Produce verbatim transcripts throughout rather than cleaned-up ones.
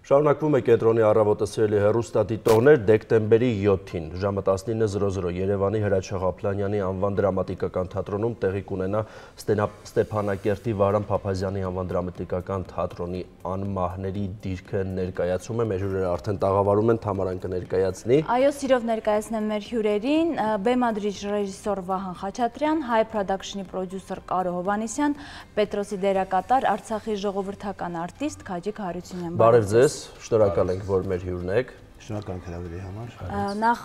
Շարունակվում է կենտրոնի առավոտը սիրելի հեռուստադիտողներ դեկտեմբերի յոթին ժամը տասնինը զրո զրո Երևանի Հրաչյա Ղափլանյանի անվան դրամատիկական թատրոնում տեղի կունենա Ստեփանակերտի Վահրամ Փափազյանի անվան դրամատիկական թատրոնի անմահների դիրքը ներկայացում է։ Մեր հյուրերը արդեն տաղավարում են, Թամարան կներկայացնի։ Այո, սիրով ներկայացնեմ մեր հյուրերին, բեմադրիչ ռեժիսոր Վահան Խաչատրյան, Հայ Production-ի պրոդյուսեր Կարո Հովհաննիսյան, Պետրոսի դերակատար Արցախի ժողովրդական արտիստ Քաջիկ Հարությունյան։ Բարև ձեզ, շնորհակալ ենք, որ մեր հյուրն եք։ Շնորհակալ ենք հրավերի համար։ Նախ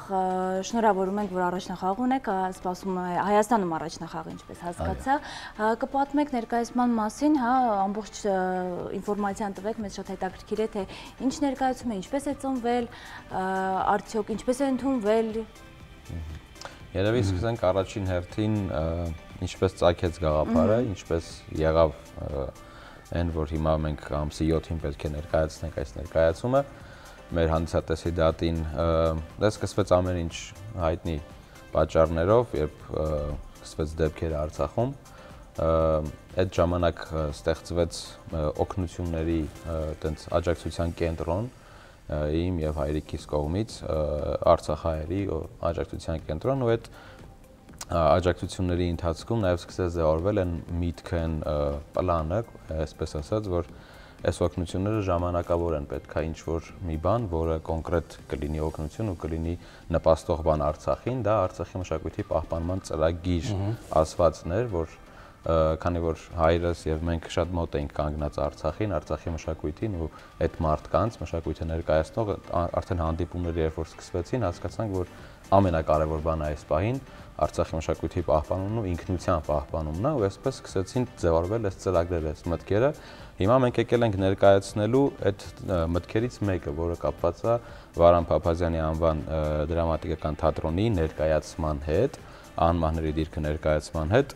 շնորհավորում ենք, որ առաջնախաղ ունեք, սպասում է Հայաստանում առաջնախաղ, ինչպես հասկացա։ Կպատմեք ներկայացման մասին, հա, ամբողջ ինֆորմացիան տվեք, մեզ շատ հետաքրքիր է, թե ինչ ներկայացում է, ինչպես է ծնվել, արդյոք ինչպես է ընդունվել։ Երևի սկսենք առաջին հերթին ինչպես ծագեց գաղափարը, ինչպես եղավ այն, որ հիմա մենք ամսի յոթին պետք է ներկայացնենք այս ներկայացումը, մեր հանդիսատեսի դատին դա սկսվեց ամեն ինչ հայտնի պատճառներով, երբ սկսվեց դեպքերը Արցախում, այդ ժամանակ ստեղծվեց օգնությունների տենց աջակցության կենտրոն իմ եւ հայրիկիս կողմից Արցախահայերի աջակցության կենտրոն, ու այդ աջակցությունների ընթացքում նաև սկսեց ձևավորվել այն միտքը, այն պլանը, այսպես ասած, որ այս օգնությունները ժամանակավոր են, պետք է ինչ-որ մի բան, որը կոնկրետ կլինի օգնություն ու կլինի նպաստող բան Արցախին, դա Արցախի մշակույթի պահպանման ծրագիր ասվածներ, որ քանի որ հայրս եւ մենք շատ մոտ էինք կանգնած Արցախին, Արցախի մշակույթին ու այդ մարդկանց մշակույթը ներկայացնող արդեն հանդիպումները երբ որ սկսվեցին, հասկացանք, որ ամենակարևոր բանը այս պահին Արցախի մշակույթի պահպանումն ու ինքնության պահպանումն է, ու այսպես սկսեցին ձևավորվել այս ծրագրերը, այս մտքերը։ Հիմա մենք եկել ենք ներկայացնելու այդ մտքերից մեկը, որը կապված է Վահրամ Փափազյանի անվան դրամատիկական թատրոնի ներկայացման հետ, անմահների դիրքը ներկայացման հետ,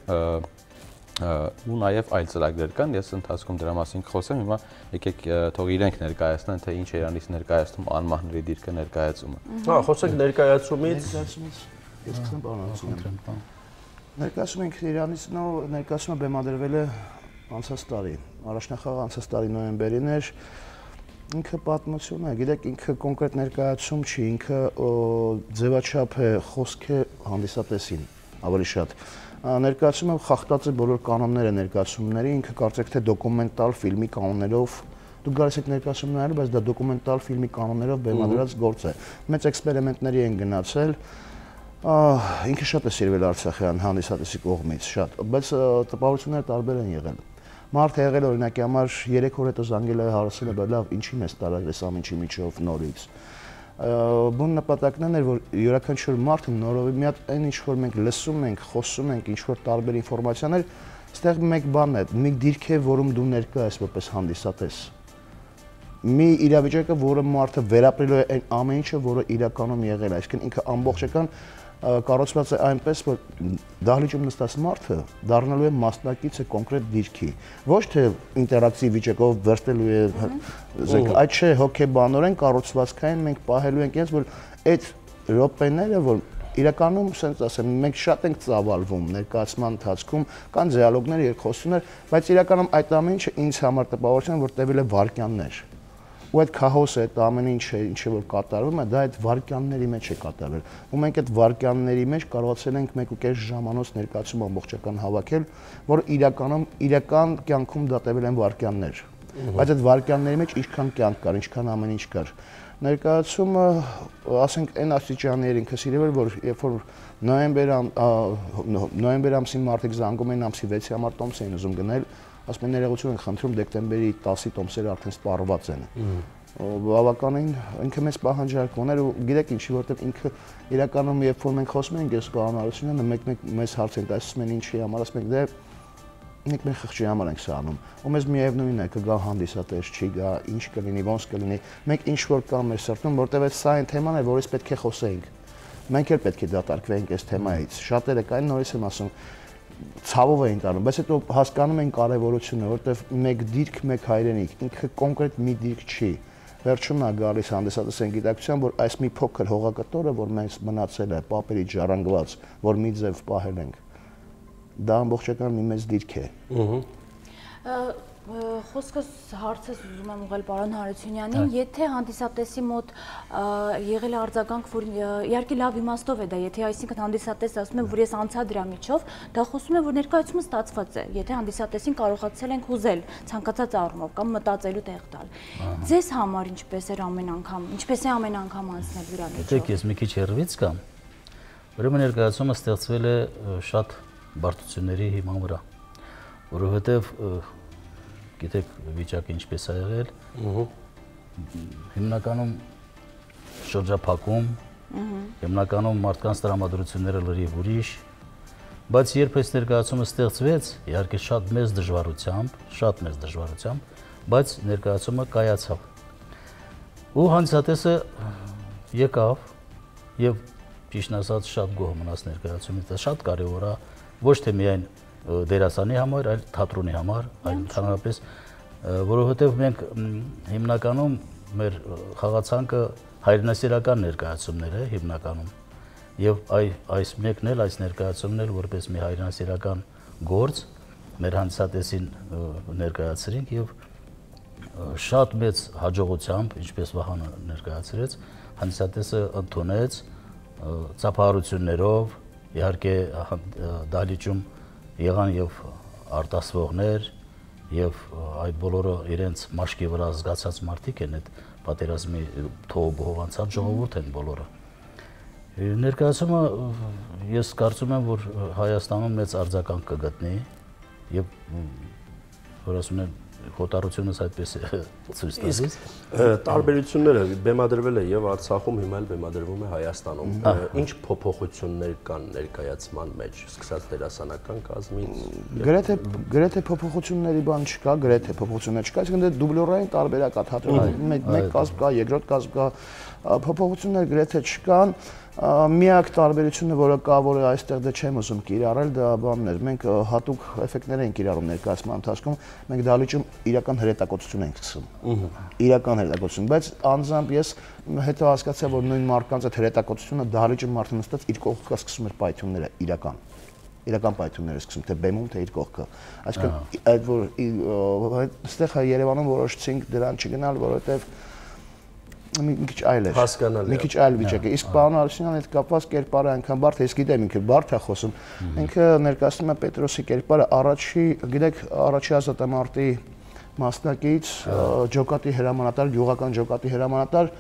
ու նաև այլ ծրագրեր կան, ես ընթացքում դրա մասին կխոսեմ, հիմա եկեք թող իրենք ներկայացնեն, թե ինչ է իրանից ներկայացնում անմահների դիրքը ներկայացումը։ Հա, խոսենք ներկայացումից։ Ես սկսեմ պարոն։ Ներկայացումը ինքը իրանից նո ներկայացումը բեմադրվել է անցած տարի, առաջնախաղ անցած տարի նոյեմբերին էր, ինքը պատմություն է, գիտեք, ինքը կոնկրետ ներկայացում չի, ինքը ձևաչափ է, խոսք է հանդիսատեսին, ավելի շատ։ Ներկայացումը խախտած է բոլոր կանոնները ներկայացումների, ինքը կարծեք թե դոկումենտալ ֆիլմի կանոններով, դուք գալիս եք ներկայացում նայելու, բայց դա դոկումենտալ ֆիլմի կանոններով բեմադրած գործ է։ Մեծ էքսպերիմենտների են գնացել, ինքը շատ է սիրվել Արցախյան հանդիսատեսի կողմից, շատ, բայց տպավորությունները տարբեր են եղել։ Մարդ է եղել օրինակի համար երեք օր հետո զանգել է հարցել է, լավ, ինչի մեզ տարագրես ամենի միջով նորից։ Բուն նպատակն էր, որ յուրաքանչյուր մարդը նորովի մի հատ այն ինչ որ մենք լսում ենք, խոսում ենք, ինչ որ տարբեր ինֆորմացիաներ, այստեղ մեկ բան է, մի դիրք է, որում դու ներկա ես որպես հանդիսատես։ Մի իրավիճակը, որը մարդը վերապրելու է այն ամեն ինչը, որը իրականում եղել է, այսինքն ինքը ամբողջական կառուցված է այնպես, որ դահլիճում նստած մարդը դառնալու է մասնակից է կոնկրետ դիրքի, ոչ թե ինտերակտիվ վիճակով վերցնելու է, այդ չէ, հոգեբանորեն կառուցվածքային մենք պահելու ենք ինձ, որ այդ րոպեները, որ իրականում, ասենց ասեմ, մենք շատ ենք ծավալվում ներկայացման ընթացքում, կան դիալոգներ, երկխոսություններ, բայց իրականում այդ ամեն ինչը ինձ համար տպավորություն է, որ տևել է վայրկյաններ։ Ու այդ քահոսը, այդ ամեն ինչը, ինչը որ կատարվում է, դա այդ վայրկյանների մեջ է կատարվել։ Ու մենք այդ վայրկյանների մեջ կարողացել ենք մեկ ու կես ժամանոց ներկայացում ամբողջական հավաքել, որ իրականում իրական կյանքում դա տևել են վայրկյաններ։ Բայց այդ վայրկյանների մեջ ինչքան կյանք կար, ինչքան ամեն ինչ կար։ Ներկայացումը, ասենք, այն աստիճանի էր ինքը սիրել, որ երբ որ նոյեմբեր նոյեմբեր ամսին մարդիկ զանգում էին ամսի վեցի համար տոմս էին ուզում գնել, ասում են ներողություն ենք խնդրում դեկտեմբերի տասի տոմսերը արդեն սպառված են։ Բավականին ինքը մեծ պահանջարկ ուներ ու գիտեք ինչի, որտեղ ինքը իրականում երբ որ մենք խոսում ենք ես Կարոն Հարությունյանը մեկ-մեկ մեզ հարց ենք ասում են ինչի համար, ասում ենք դե մենք մեր խղճի համար ենք սա անում։ Ու մեզ միևնույնն է կգա հանդիսատես, չի գա, ինչ կլինի, ոնց կլինի։ Մենք ինչ որ կա մեր սրտում, որտեղ այդ սա այն թեման է, որից պետք է խոսեինք։ Մենք էլ պետք է դատարկվենք այս թեմայից։ Շատերը կային նորից եմ ասում ցավով էին տանում, բայց հետո հասկանում են կարևորությունը, որտեղ մեկ դիրք, մեկ հայրենիք, ինքը կոնկրետ մի դիրք չի։ Վերջում նա գալիս հանդիսատեսային գիտակցության, որ այս մի փոքր հողակտորը, որ մենք մնացել է պապերի ջարանգված, որ մի ձև պահել ենք, դա ամբողջական մի մեծ դիրք է։ Խոսքս հարցս ուզում եմ ուղղել պարոն Հարությունյանին, եթե հանդիսատեսի մոտ եղել է արձագանք, որ իհարկե լավ իմաստով է դա, եթե այսինքն հանդիսատեսը ասում է, որ ես անցա դրա միջով, դա խոսում է, որ ներկայացումը ստացված է, եթե հանդիսատեսին կարողացել ենք հուզել ցանկացած առումով կամ մտածելու տեղ տալ։ Ձեզ համար ինչպես էր ամեն անգամ, ինչպես է ամեն անգամ անցնել դրա միջով։ Դեք ես մի քիչ հեռվից կամ, ուրեմն ներկայացումը ստեղծվել է շատ բարդությունների հիման վրա, որովհետև գիտեք վիճակը ինչպես է եղել, հիմնականում շրջափակում, հիմնականում մարդկանց տրամադրությունները լրիվ ուրիշ, բայց երբ այս ներկայացումը ստեղծվեց, իհարկե շատ մեծ դժվարությամբ, շատ մեծ դժվարությամբ, բայց ներկայացումը կայացավ։ Ու հանդիսատեսը եկավ եւ ճիշտն ասած շատ գոհ մնաց ներկայացումից, դա շատ կարեւոր է ոչ թե միայն դերասանի համար, այլ թատրոնի համար, այլ ընդհանրապես, որովհետև մենք հիմնականում մեր խաղացանկը հայրենասիրական ներկայացումներ է հիմնականում, եւ այս մեկն էլ, այս ներկայացումն էլ որպես մի հայրենասիրական գործ մեր հանդիսատեսին ներկայացրինք եւ շատ մեծ հաջողությամբ, ինչպես Վահանը ներկայացրեց, հանդիսատեսը ընդունեց ծափահարություններով, իհարկե դահլիճում եղան եւ արտասվողներ եւ այդ բոլորը իրենց մաշկի վրա զգացած մարդիկ են, այդ պատերազմի թողով անցած ժողովուրդ են բոլորը։ Ներկայացումը ես կարծում եմ, որ Հայաստանում մեծ արձագանք կգտնի եւ որ ասում են խոտառությունս այդպես է ցույց տալիս։ Տարբերությունները բեմադրվել է եւ Արցախում, հիմա էլ բեմադրվում է Հայաստանում։ Ինչ փոփոխություններ կան ներկայացման մեջ, սկսած դերասանական կազմից։ Գրեթե գրեթե փոփոխությունների բան չկա, գրեթե փոփոխություններ չկա, այսինքն դուբլյորային տարբերակ է թատրոնի։ Մեկ կազմ կա, երկրորդ կազմ կա, փոփոխություններ գրեթե չկան։ Միակ տարբերությունը, որը կա, որը այստեղ դե չեմ ուզում կիրառել, դա բանն էր։ Մենք հատուկ էֆեկտներ ենք կիրառում ներկայացման ընթացքում, մենք դահլիճում իրական հրետակոծություն ենք սկսում։ Իրական հրետակոծություն, բայց անձամբ ես հետո հասկացա, որ նույն մարդկանց այդ հրետակոծությունը դահլիճում մարդը նստած իր կողքը սկսում էր պայթյունները իրական։ Իրական պայթյունները սկսում թե բեմում, թե իր կողքը։ Այսինքն այդ որ այստեղ Երևանում որոշեցինք դրան չգնալ, որովհետև մի քիչ այլ էր, մի քիչ այլ վիճակ է։ Իսկ պարոն Հարությունյանը հետ կապված կերպարը այնքան բարդ է, ես գիտեմ ինքը բարդ է խոսում։ Ինքը ներկայացնում է Պետրոսի կերպարը առաջի, գիտեք, առաջի ազատամարտի մասնակից, ջոկատի հրամանատար, գյուղական ջոկատի հրամանատար,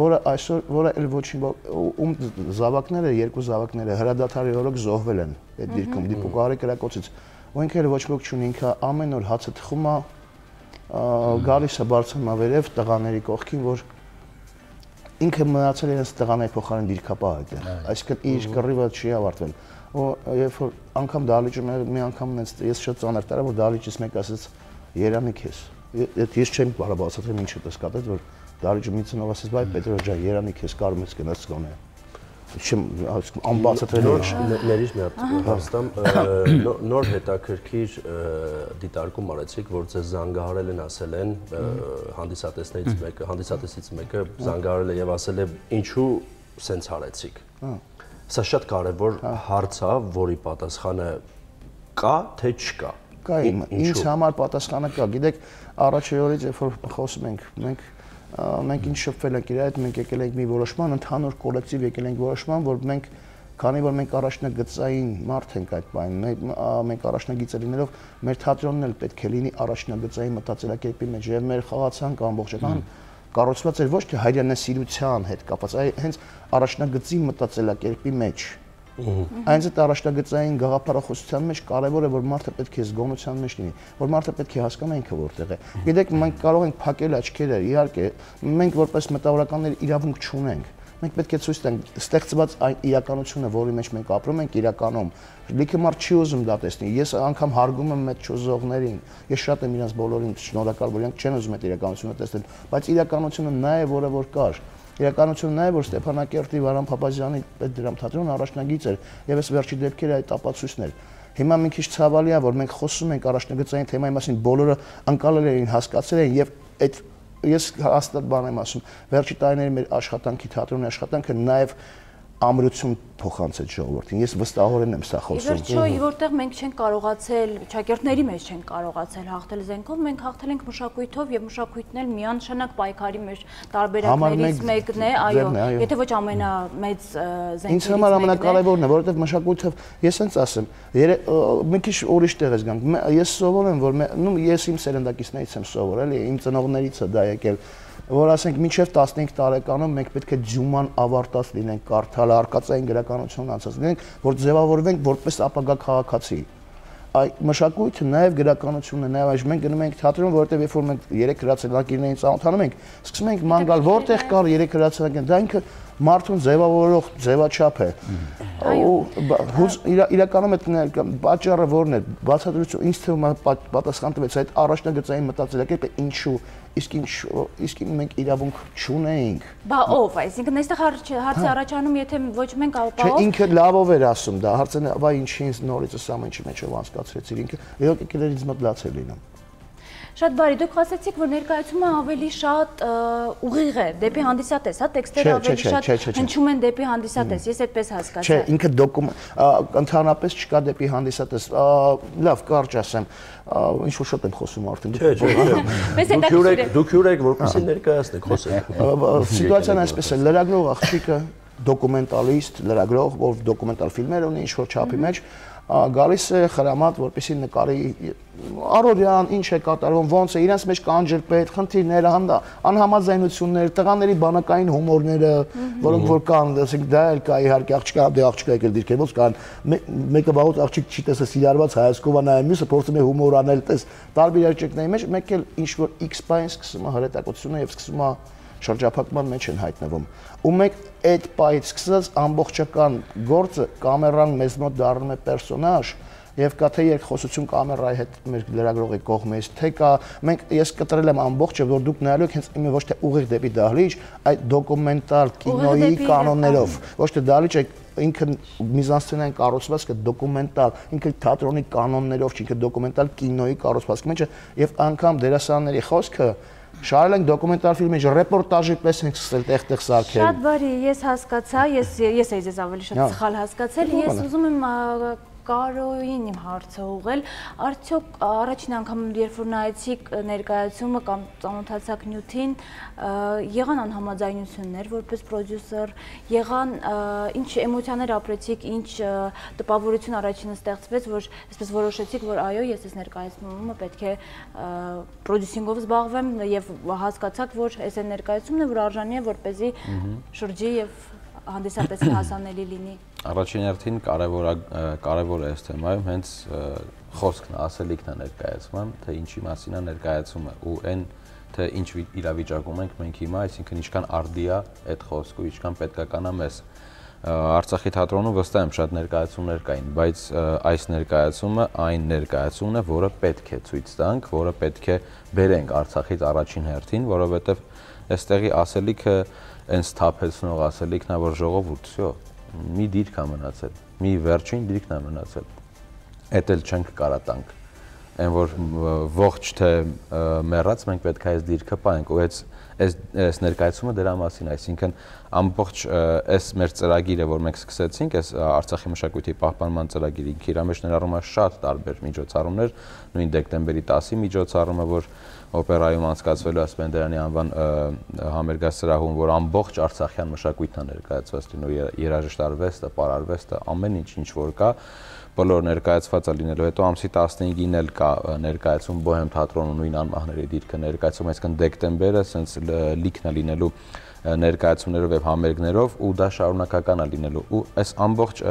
որը այսօր, որը էլ ոչինչ, ում զավակները, երկու զավակները հրադադարի օրոք զոհվել են այդ դիրքում, դիպուկահարի կրակոցից։ Ու ինքը էլ ոչ ոք չունի, ինքը ամեն օր հացը թխում է, գալիս է բարձրանում վերև տղաների կողքին, որ ինքը մնացել իրենց տղաների փոխարեն դիրքապահ այդտեղ, այսինքն իր կռիվը չի ավարտվել։ Ու երբ որ անգամ դահլիճում մի անգամ ես շատ ծանր տարա, որ դահլիճից մեկ ասեց Երանի քեզ։ Ես չեմ կարող բացատրել ինչը դες կատեց, որ դահլիճում ինձ նով ասեց, բայ Պետրոս ջան, Երանի քեզ կարում ես գնաս գոնե։ Չեմ անբացատրելի ներիշ մի հատ հաստամ նոր հետաքրքիր դիտարկում արեցիք, որ ձեզ զանգահարել են, ասել են հանդիսատեսներից մեկը, հանդիսատեսից մեկը զանգահարել է եւ ասել է ինչու սենց արեցիք։ Սա շատ կարևոր հարց է, որի պատասխանը կա թե չկա։ Կա, ինձ համար պատասխանը կա։ Գիտեք, առաջի օրից երբ որ խոսում ենք, մենք մենք ինչ շփվել ենք իր հետ, մենք եկել ենք մի որոշման, ընդհանուր կոլեկտիվ եկել ենք որոշման, որ մենք, քանի որ մենք առաջնագծային մարդ ենք այդ բանին, մենք առաջնագիծը լինելով, մեր թատրոնն էլ պետք է լինի առաջնագծային մտածելակերպի մեջ, եւ մեր խաղացանքը ամբողջական կառուցված էր ոչ թե հայրենասիրության հետ կապված, այլ հենց առաջնագծի մտածելակերպի մեջ։ Այնց այդ առաջնագծային գաղափարախոսության մեջ կարևոր է, որ մարդը պետք է զգոնության մեջ լինի, որ մարդը պետք է հասկանա ինքը որտեղ է։ Գիտեք, մենք կարող ենք փակել աչքերը, իհարկե, մենք որպես մտավորականներ իրավունք չունենք։ Մենք պետք է ցույց տանք ստեղծված այն իրականությունը, որի մեջ մենք ապրում ենք, իրականում։ Լիքը մարդ չի ուզում դա տեսնի։ Ես անգամ հարգում եմ այդ չուզողներին։ Ես շատ եմ իրենց բոլորին շնորհակալ, որ իրենք չեն ուզում այդ իրականությունը տեսնել, բայց իրականությունը նա է, որը որ կար։ Իրականությունն նա է, որ Ստեփանակերտի Վարան Փափազյանի այդ դրամ թատրոնը առաջնագիծ էր, եւ այս վերջի դեպքերը այդ ապացույցն էր։ Հիմա մի քիչ ցավալի է, որ մենք խոսում ենք առաջնագծային թեմայի մասին, բոլորը անկալել էին, հասկացել են եւ այդ ես հաստատ բան եմ ասում, վերջի տարիների մեր աշխատանքի թատրոնի աշխատանքը նաեւ ամրություն փոխանցեց ժողովրդին։ Ես վստահորեն եմ սա խոսում։ Իվերջո, որտեղ մենք չենք կարողացել, շակերտների մեջ չենք կարողացել հաղթել զենքով, մենք հաղթել ենք մշակույթով եւ մշակույթն էլ միանշանակ պայքարի մեր տարբերակներից մեկն է, այո, եթե ոչ ամենամեծ զենքերից մեկն է։ Ինձ համար ամենակարևորն է, որովհետեւ մշակույթով ես հենց ասեմ, մի քիչ ուրիշ տեղ ես գանք։ Ես սովորեմ, որ նու ես իմ սերնդակիցներից եմ սովորել, իմ ծնողներից է դա եկել, որ ասենք մինչև տասնհինգ տարեկանում մենք պետք է ջուման ավարտած լինենք, կարդալ արկածային գրականություն անցած լինենք, որ ձևավորվենք որպես ապագա քաղաքացի։ Այ մշակույթը նաև գրականությունն է, նաև այժմ մենք գնում ենք թատրոն, որովհետև երբ որ մենք երեք հրացանակիրներին ծանոթանում ենք, սկսում ենք ման գալ, որտեղ կար երեք հրացանակին, դա ինքը մարդուն ձևավորող ձևաչափ է։ Իրականում այդ պատճառը որն է, բացատրություն ինձ թվում է պատասխան տվեց այդ առաջնագծային մտածելակերպը ինչու, իսկ ինչ իսկ մենք իրավունք չունեինք։ Բա ով, այսինքն այստեղ հարցի առաջանում, եթե ոչ մենք ապա ով։ Չէ, ինքը լավով էր ասում դա, հարցը նա, վայ ինչի ինձ նորից այս ամեն ինչի մեջով անցկացրեցիր, ինքը իրոք եկելերից մոտ լաց էր լինում։ Շատ բարի, դուք ասացիք, որ ներկայացումը ավելի շատ ուղիղ է դեպի հանդիսատես, հա, տեքստերը ավելի շատ հնչում են դեպի հանդիսատես, ես այդպես հասկացա։ Չէ, ինքը դոկումենտ ընդհանրապես չկա դեպի հանդիսատես։ Լավ, կարճ ասեմ, ինչ որ շատ եմ խոսում արդեն։ Չէ, չէ, դուք հյուր եք, որպեսզի ներկայացնեք, խոսեք։ Սիտուացիան այսպես է, լրագրող աղջիկը, դոկումենտալիստ, լրագրող, որ դոկումենտալ ֆիլմեր ունի ինչ որ չափի մեջ, գալիս է խրամատ, որպեսզի նկարի առօրյան ինչ է կատարվում, ոնց է, իրենց մեջ կանջել պետ, խնդիրները, անհամաձայնություններ, տղաների բանակային հումորները, որոնք որ կան, ասենք դա էլ կա իհարկե աղջիկա, դե աղջիկա եկել դիրքեր, ոնց կան, մեկը վաղուց աղջիկ չի տեսել սիրարված հայացքով է նայում, մյուսը փորձում է հումոր անել, տես տարբեր աճեկների մեջ, մեկ էլ ինչ որ X բան սկսում է հրետակությունը եւ սկսում է շրջափակման մեջ են հայտնվում։ Ու մենք այդ պայից սկսած ամբողջական գործը կամերան մեզ մոտ դառնում է պերսոնաժ եւ կա թե երկխոսություն կամերայի հետ մեր լրագրողի կողմից, թե կա մենք ես կտրել եմ ամբողջը, որ դուք նայելու եք հենց իմը ոչ թե ուղիղ դեպի դահլիճ, այլ դոկումենտալ կինոյի կանոններով, ոչ թե դահլիճ է ինքը միզանսցենային կառուցվածքը դոկումենտալ, ինքը թատրոնի կանոններով չի, ինքը դոկումենտալ կինոյի կառուցվածքի մեջ է եւ անգամ դերասանների խոսքը շարել ենք դոկումենտալ ֆիլմի ռեպորտաժի պես ենք սկսել տեղ-տեղ սարքել։ Շատ բարի, ես հասկացա, ես ես էի ձեզ ավելի շատ սխալ հասկացել, ես ուզում եմ Կարոյին իմ հարցը ուղղել, արդյոք առաջին անգամ երբ որ նայեցիք ներկայացումը կամ ծանոթացաք նյութին, եղան անհամաձայնություններ որպես պրոդյուսեր, եղան ինչ էմոցիաներ ապրեցիք, ինչ տպավորություն առաջինը ստեղծվեց, որ այսպես որոշեցիք, որ այո, ես այս ներկայացումը պետք է պրոդյուսինգով զբաղվեմ եւ հասկացաք, որ այս այն ներկայացումն է, որ արժանի է որպեսզի շրջի եւ հանդիսատեսին հասանելի լինի։ Առաջին հերթին կարևոր կարևոր է այս թեմայում հենց խոսքն, ասելիքն է ներկայացման, թե ինչի մասին է ներկայացումը ու այն թե ինչ իրավիճակում ենք մենք հիմա, այսինքն ինչքան արդի է այդ խոսքը, ինչքան պետքական է մեզ։ Արցախի թատրոնում վստահ եմ շատ ներկայացումներ կային, բայց այս ներկայացումը այն ներկայացումն է, որը պետք է ցույց տանք, որը պետք է բերենք Արցախից առաջին հերթին, որովհետև այստեղի ասելիքը այն սթափեցնող ասելիքն է, որ ժողովուրդ, всё, մի դիրք է մնացել, մի վերջին դիրքն է մնացել։ Էդ էլ չենք կարա տանք։ Այն որ ողջ թե մեռած մենք պետք է այս դիրքը պահենք ու այս այս ներկայացումը դրա մասին, այսինքն ամբողջ այս մեր ծրագիրը, որ մենք սկսեցինք, այս Արցախի մշակույթի պահպանման ծրագիրը, ինքը իր մեջ ներառում է շատ տարբեր միջոցառումներ, նույն դեկտեմբերի տասի միջոցառումը, որ օպերայում անցկացվելու Ասպենդերյանի անվան համերգասրահում, որ ամբողջ արցախյան մշակույթն է ներկայացված լինելու, երաժիշտ արվեստը, պարարվեստը, ամեն ինչ ինչ որ կա, բոլոր ներկայացված է լինելու։ Հետո ամսի տասնհինգին էլ կա ներկայացում Բոհեմ թատրոնու նույն անմահների դիրքը ներկայացում, այսինքն դեկտեմբերը սենց լիքն է լինելու ներկայացումներով եւ համերգներով ու դա շարունակական է լինելու։ Ու այս ամբողջ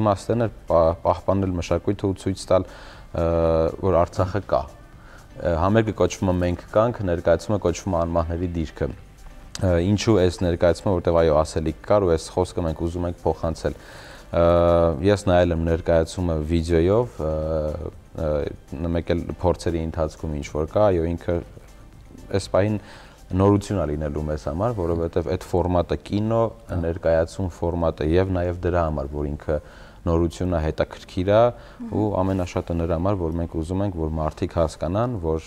իմաստն է պահպանել մշակույթը ու ցույց տալ, որ Արցախը կա։ Համերգը կոչվում է Մենք կանք, ներկայացումը կոչվում է Անմահների դիրքը։ Ինչու այս ներկայացումը, որտեղ այո ասելիք կար ու այս խոսքը մենք ուզում ենք փոխանցել։ Ես նայել եմ ներկայացումը վիդեոյով, մեկ էլ փորձերի ընթացքում ինչ որ կա, այո ինքը այս պահին նորություն է լինելու մեզ համար, որովհետև այդ ֆորմատը կինո, ներկայացում ֆորմատը եւ նաեւ դրա համար, որ ինքը նորությունն է, հետաքրքիր է ու ամենաշատը նրա համար, որ մենք ուզում ենք, որ մարդիկ հասկանան, որ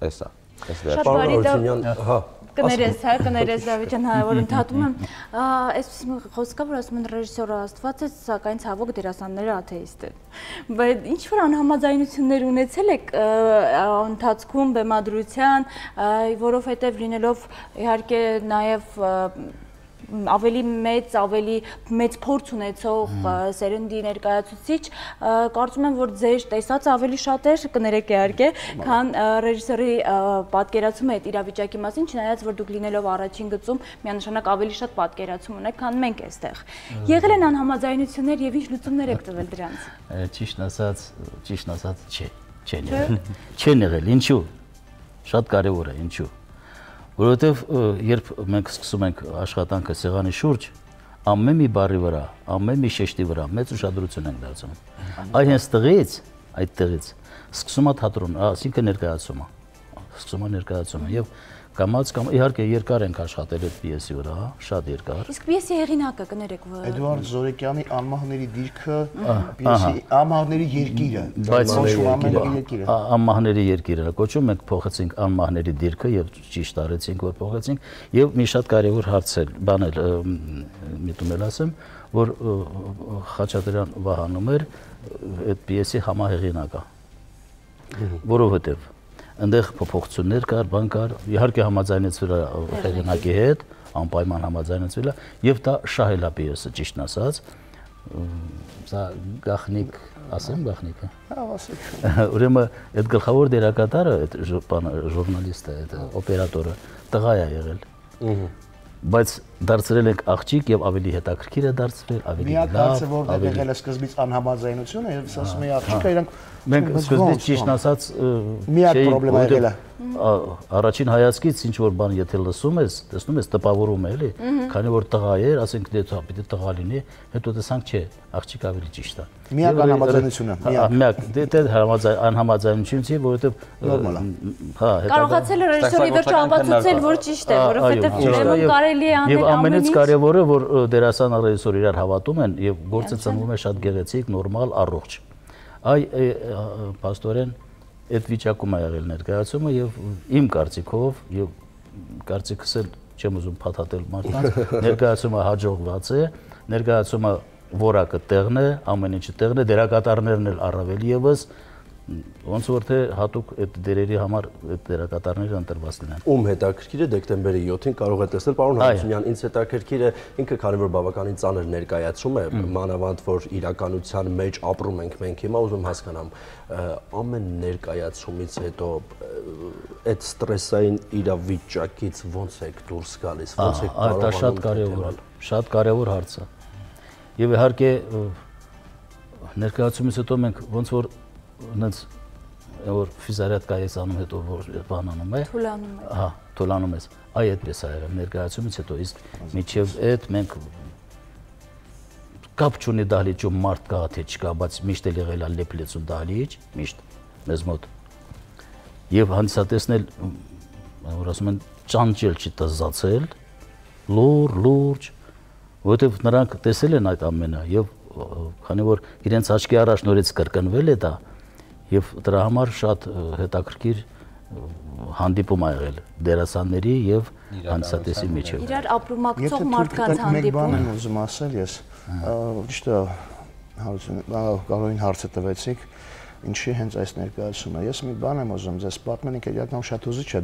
էս է, էս վերջը։ Պարոն Օրությունյան, հա, կներես, հա, կներես Դավիթ ջան, հա, որ ընդհատում եմ, այսպես խոսքա, որ ասում են ռեժիսորը Աստված է, սակայն ցավոք դերասանները աթեիստ են։ Բայց ինչ որ անհամաձայնություններ ունեցել եք ընթացքում բեմադրության, որովհետև լինելով իհարկե նաև ավելի մեծ, ավելի մեծ փորձ ունեցող սերնդի ներկայացուցիչ, կարծում եմ, որ ձեր տեսածը ավելի շատ էր, կներեք իհարկե, քան ռեժիսորի պատկերացումը այդ իրավիճակի մասին, չնայած որ դուք լինելով առաջին գծում միանշանակ ավելի շատ պատկերացում ունեք, քան մենք այստեղ։ Եղել են անհամաձայնություններ եւ ինչ լուծումներ եք տվել դրանց։ Ճիշտ ասած, ճիշտ ասած, չէ, չեն եղել։ Չեն եղել, ինչու՞։ Շատ կարևոր է, ինչու՞։ Որովհետև երբ մենք սկսում ենք աշխատանքը սեղանի շուրջ, ամեն մի բառի վրա, ամեն մի շեշտի վրա մեծ ուշադրություն ենք դարձնում։ Այ հենց տղից, այդ տղից սկսում է թատրոն, ասինքն ներկայացումը, սկսում է ներկայացումը եւ կամած կամ իհարկե երկար ենք աշխատել այդ պիեսի վրա, շատ երկար։ Իսկ պիեսի հեղինակը կներեք ո՞ր։ Էդուարդ Զորեկյանի Անմահների դիրքը, պիեսի Անմահների երկիրը, բայց երկիրը։ Անմահների երկիրը կոչում ենք, փոխեցինք Անմահների դիրքը եւ ճիշտ արեցինք, որ փոխեցինք եւ մի շատ կարեւոր հարց է, բան էլ միտում էլ ասեմ, որ Խաչատրյան Վահանում էր այդ պիեսի համահեղինակը, որովհետեւ այնտեղ փոփոխություններ կար, բան կար, իհարկե համաձայնեցվել է հեղինակի հետ, անպայման համաձայնեցվել է, եւ դա շահել է պիեսը, ճիշտն ասած, սա գախնիկ, ասեմ գախնիկը։ Հա, ասեք։ Ուրեմն այդ գլխավոր դերակատարը, այդ ժուրնալիստը, այդ օպերատորը տղա է եղել։ Բայց դարձրել ենք աղջիկ եւ ավելի հետաքրքիր է դարձվել, ավելի լավ։ Միակ հարցը որտեղ եղել է սկզբից անհամաձայնությունը, եւ ասում էի աղջիկը իրանք մենք սկզբից ճիշտ ասած միակ խնդրեմը եղել է։ Առաջին հայացքից ինչ որ բան եթե լսում ես, տեսնում ես տպավորում է, էլի, քանի որ տղա էր, ասենք դե պիտի տղա լինի, հետո տեսանք չէ, աղջիկ ավելի ճիշտ է։ Միակ անհամաձայնությունը, միակ։ Միակ, դե համաձայն անհամաձայնություն չի, որովհետեւ նորմալ է։ Հա, կարողացել է ռեժիսորի վերջո ապացուցել, որ ճիշտ է, որովհետեւ ուրեմն կարելի է անել եւ ամենից կարևորը, որ դերասանը ռեժիսորը իրար հավատում են եւ գործը ծնվում է շատ գեղեցիկ, նորմալ, առողջ։ Այ պաստորեն այդ վիճակում է եղել ներկայացումը եւ իմ կարծիքով եւ կարծիքս էլ չեմ ուզում փաթաթել մարդկանց, ներկայացումը հաջողված է, ներկայացումը որակը տեղն է, ամեն ինչը տեղն է, դերակատարներն էլ առավել եւս ոնց որ թե հատուկ այդ դերերի համար այդ դերակատարները ընտրված լինեն։ Ում հետաքրքիր է դեկտեմբերի յոթին կարող է տեսնել պարոն Հարությունյան, ինձ հետաքրքիր է ինքը քանի որ բավականին ծանր ներկայացում է, մանավանդ որ իրականության մեջ ապրում ենք մենք հիմա, ուզում հասկանամ, ամեն ներկայացումից հետո այդ ստրեսային իրավիճակից ոնց եք դուրս գալիս, ոնց եք կարողանում։ Դա շատ կարևոր է, շատ կարևոր հարց է։ Եվ իհարկե ներկայացումից հետո մենք ոնց որ նենց որ ֆիզարյատկայից անում հետո որ բանանում է, թուլանում է։ Հա, թուլանում ես։ Այ այդպես է եղել ներկայացումից հետո, իսկ միջև այդ մենք կապ չունի դահլիճում մարդ կա թե չկա, բայց միշտ էլ եղել է լեփլեցուն դահլիճ, միշտ մեզ մոտ։ Եվ հանդիսատեսն էլ որ ասում են ճանճել չի տզացել, լուր, լուրջ, որովհետև նրանք տեսել են այդ ամենը եւ քանի որ իրենց աչքի առաջ նորից կրկնվել է դա եւ դրա համար շատ հետաքրքիր հանդիպում ա եղել դերասանների եւ հանդիսատեսի միջեւ։ Իրար ապրումակցող մարդկանց հանդիպում։ Մեկ բան եմ ուզում ասել ես, ճիշտ է, Կարոլին հարցը տվեցիք, ինչի հենց այս ներկայացումը։ Ես մի բան եմ ուզում ձեզ պատմել, ինքը իրական շատ ուզիչ է,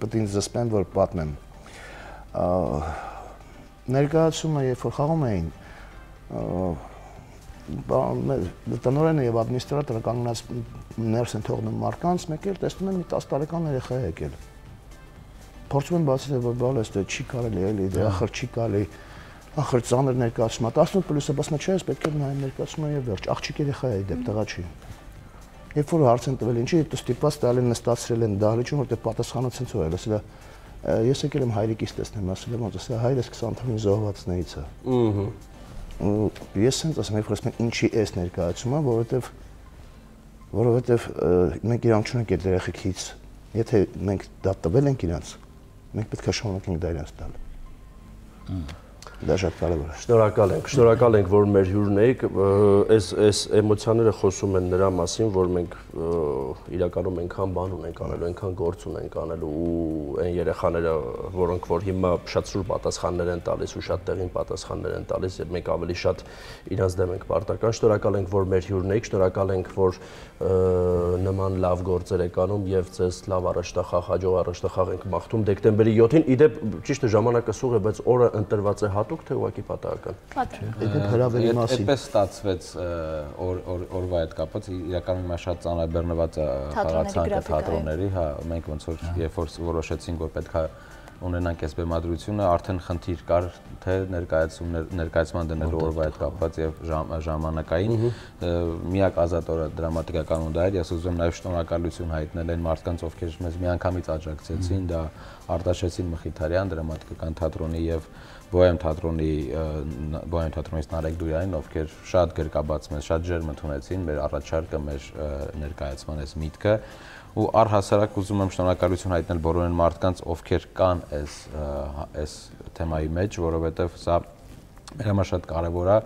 պետք է ինձ զսպեմ, որ պատմեմ։ Ներկայացումը, երբ որ խաղում էին, տնօրենը եւ ադմինիստրատորը կանգնած ներս են թողնում մարդկանց, մեկ էլ տեսնում են մի տասը տարեկան երեխա է եկել։ Փորձում են բացատրել, որ բալես դե չի կարելի էլի, դե ախր չի կարելի, ախր ծանր ներկայացում է, տասնութ պլյուսը, բայց նա չէ, պետք է նայեմ ներկայացումը եւ վերջ, աղջիկ երեխա է դեպ տղա չի։ Երբ որ հարց են տվել, ինչի հետո ստիպված տալ են նստացրել են դահլիճում, որտեղ պատասխանը ցնցող է, ասել է ես եկել եմ հայրիկից տեսնեմ, ասել եմ, ոնց է, հայրս քսան թվականին զոհվածներից է։ Ահա։ Ես sense ասեմ, երբ ասում են ինչի էս ներկայացումը, որովհետև որովհետև մենք իրանք չունենք այդ երեխեքից, եթե մենք դա տվել ենք իրանց, մենք պետք է շարունակենք դա իրանց տալ։ Դա շատ կարևոր է։ Շնորհակալ ենք, շնորհակալ ենք, որ մեր հյուրն եք, այս այս էմոցիաները խոսում են նրա մասին, որ մենք իրականում այնքան բան ունենք անելու, այնքան գործ ունենք անելու ու այն երեխաները, որոնք որ հիմա շատ սուր պատասխաններ են տալիս ու շատ տեղին պատասխաններ են տալիս, եւ մենք ավելի շատ իրանց դեմ ենք պարտական։ Շնորհակալ ենք, որ մեր հյուրն եք, շնորհակալ ենք, որ նման լավ գործեր եք անում եւ ձեզ լավ առաջնախաղ, հաջող առաջնախաղ ենք մաղթում դեկտեմբերի յոթին։ Իդեպ ճիշտ է ժամանակը սուղ է, բայց օրը ընտրված է հատուկ թե ուղղակի պատահական։ Իդեպ հրավերի մասին։ Այդպես ստացվեց օրվա հետ կապված, իրականում հիմա շատ ծանրաբեռնված է խաղացանկը թատրոնների, հա, մենք ոնց որ երբ որ որոշեցինք, որ պետք է ունենանք այս բեմադրությունը, արդեն խնդիր կար թե ներկայացումներ ներկայացման դնելու օրվա հետ կապված եւ ժամանակային միակ ազատ օրը դրամատիկականն դա էր։ Ես ուզում եմ նաեւ շնորհակալություն հայտնել այն մարդկանց, ովքեր մեզ միանգամից աջակցեցին, դա Արտաշեսին Մխիթարյան դրամատիկական թատրոնի եւ Բոհեմ թատրոնի Բոհեմ թատրոնից Նարեկ Դուրյանին, ովքեր շատ գրկաբաց մեզ, շատ ջերմ ընդունեցին մեր առաջարկը, մեր ներկայացման այս միտքը։ Ու առհասարակ ուզում եմ շնորհակալություն հայտնել բոլոր այն մարդկանց, ովքեր կան այս այս թեմայի մեջ, որովհետև սա մեր համար շատ կարևոր է,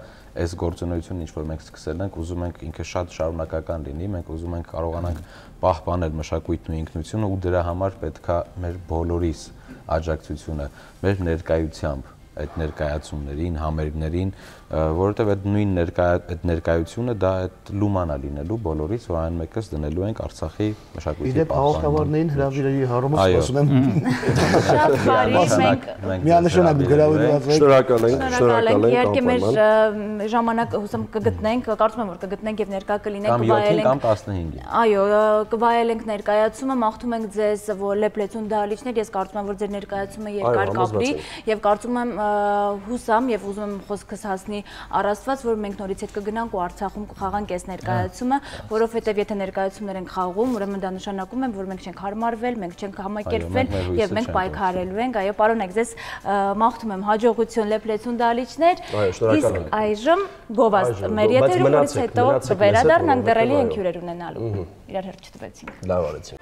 այս գործունեությունը, ինչ որ մենք սկսել ենք, ուզում ենք ինքը շատ շարունակական լինի, մենք ուզում ենք կարողանանք պահպանել մշակույթն ու ինքնությունը ու դրա համար պետք է մեր բոլորիս աջակցությունը, մեր ներկայությամբ այդ ներկայացումներին, համերգներին, որովհետև այդ նույն այդ ներկայությունը դա այդ լումանա լինելու բոլորից, որ այն մեկս դնելու ենք Արցախի մշակույթի Իդեպ հաղորդավարներին հրավիրերի հարումով սպասում եմ։ Շատ բարի, մենք միանշանակ գրավորված եք։ Շնորհակալ ենք, շնորհակալ ենք։ Իհարկե մեր ժամանակ հուսամ կգտնենք, կարծում եմ որ կգտնենք եւ ներկա կլինենք, կվայելենք կամ տասնհինգ։ Այո, կվայելենք ներկայացումը, մաղթում ենք ձեզ Լեպլեցուն դահլիճներ, ես կարծում եմ որ ձեր ներկայացումը երկար կապրի եւ կարծում եմ հուսամ եւ ուզում եմ խոսքս հասնի առ Աստված, որ մենք նորից հետ կգնանք ու Արցախում կխաղանք այս ներկայացումը, որովհետեւ եթե ներկայացումներ ենք խաղում, ուրեմն դա նշանակում է, որ մենք չենք հարմարվել, մենք չենք համակերպվել եւ մենք պայքարելու ենք։ Այո, պարոն, ես մաղթում եմ հաջողություն Լեպլեցուն դահլիճներ։ Իսկ այժմ գովաստ մեր եթերում նորից հետո վերադառնանք, դեռ էլի ենք հյուրեր ունենալու։ Իրար հերթ չտվեցինք։ Լավ արեցինք։